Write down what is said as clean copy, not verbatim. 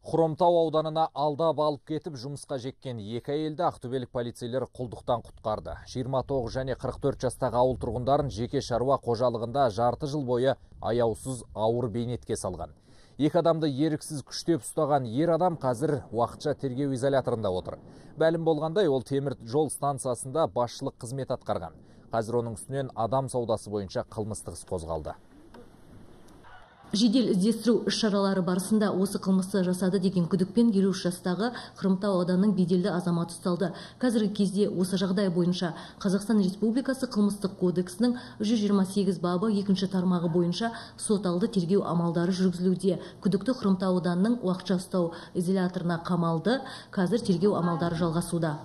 Хромтау ауданына алдап алып кетіп жұмысқа жеккен екі әйелді ақтөбелік полицейлер құлдықтан құтқарды. 29 және 44 жастағы ауыл тұрғындарын жеке шаруа қожалығында жарты жыл бойы аяусыз ауыр бейнетке салған. Екі адамды еріксіз күштеп ұстаған ер адам қазір уақытша тергеу изоляторында отыр. Мәлім болғандай, ол темір жол станциясында басшылық қызмет атқарған. Қазір оның үстінен адам саудасы бойынша қылмыстық іс қозғалды. Жедел іздестіру іс-шаралары барысында осы қылмысты жасады деген күдікпен 53 жастағы Хромтау ауданының беделді азаматы ұсталды. Қазіргі кезде осы жағдай бойынша Қазақстан Республикасы қылмыстық кодексінің 128 бабы 2 тармағы бойынша сот алды тергеу амалдары жүргізілуде. Күдікті Хромтау ауданының уақытша ұстау изоляторына қамалды. Қазір тергеу амалдары жалғасуда.